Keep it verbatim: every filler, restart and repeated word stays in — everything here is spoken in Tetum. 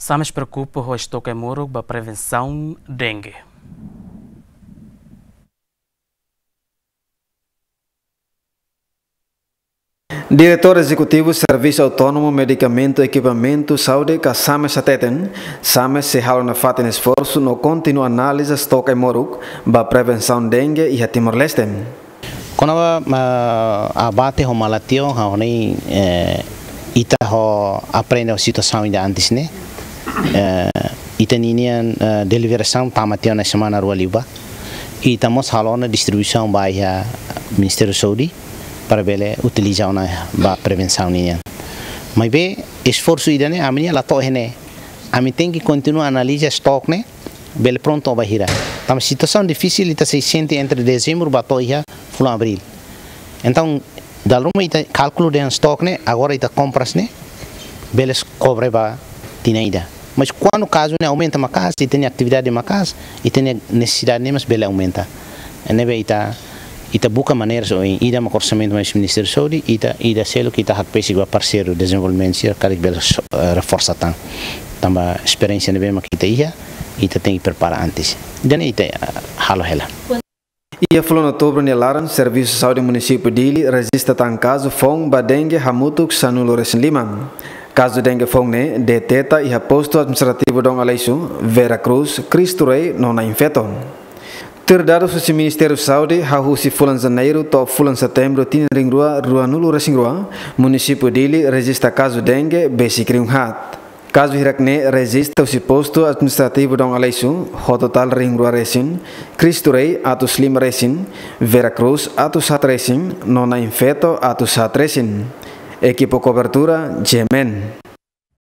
Sames preokupa ho estoke ai-moruk ba prevensaun dengue. Diretór Ezekutivu Servisu Autónomu Medikamentu Ekipamentu Saúde ka SAMES hateten, SAMES sei halo nafatin esforsu no kontinua analiza estoke ai-moruk ba prevensaun dengue iha Timor-Leste. Kona-ba, ah, abate ho malatiaun, ha'u hanoin, eh, ita ho aprende ho situasaun ida antes ne'e. Eh, ita ninian, eh, deliberasaun tama tiha ona semana rua liubá. Ita mós halo ona distribuisaun ba iha Ministériu Saúde para bele utiliza ona ba prevensaun nian. Maibé esforsu ida-ne'e ami-nia la to'o iha ne'e. Ami tenke kontinua analiza estoke ne'e, bele prontu ba hira. Tanba situasaun difisil ita sei sente entre dezembru ba to'o iha fulan abríl. Entaun, dala ruma ita kalkula dehan estoke ne'e, agora ita kompras ne'e, bele kobre ba tinan ida. Mas kuandu kazu ne'e aumenta maka'as, ita-nia atividade maka'as, ita-nia nesesidade ne'e mós bele aumenta. Ne'ebé ita, ita buka maneiras oin, ida mak orsamentu mai husi Ministériu Saúde, ita, ida seluk ita hakbesik ba parseiru dezenvolvimentu sira karik bele so-, eh, reforsa tan. Tanba esperiénsia ne'ebé mak ita iha, ita tenke prepara antes. Ida-ne'e ita, eh, halo hela. Iha fulan Outubru nia laran, Servisu Saúde Munisípiu Dili rejista tan kazu foun ba dengue hamutuk sanulu-resin-lima. Kazu dengue foun ne'e deteta iha postu administrativu Dom Aleixo, Vera Cruz, Cristo Rei no Nain Feto. Tuir dadus husi Ministériu Saúde, hahú husi fulan Janeiru to'o fulan Setembru tinan rihun rua ruanulu-resin-rua, Munisípiu Dili rejista kazu dengue besik rihun haat. Kazu hirak ne'e rejista husi postu administrativu Dom Aleixo, ho totál rihun rua resin, Cristo Rei atus lima resin, Vera Cruz atus haat resin, no Nain Feto atus haat resin. Ekipa kobertura, G M N.